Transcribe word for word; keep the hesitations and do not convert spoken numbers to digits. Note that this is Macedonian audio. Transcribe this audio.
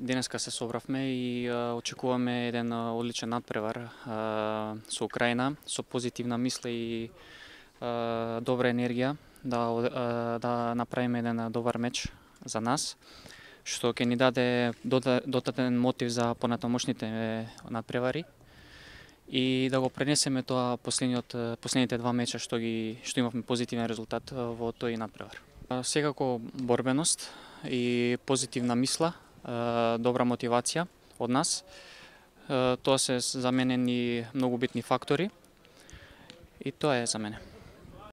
Денеска се собравме и а, очекуваме еден а, одличен надпревар а, со Украина, со позитивна мисла и а, добра енергија да а, да направиме еден добар меч за нас, што ќе ни даде додатен мотив за понатамошните надпревари и да го пренесеме тоа последниот последните два меча што ги што имавме позитивен резултат во тој надпревар. Секако борбеност и позитивна мисла, добра мотивација од нас. Тоа се за мене ни многу битни фактори и тоа е за мене.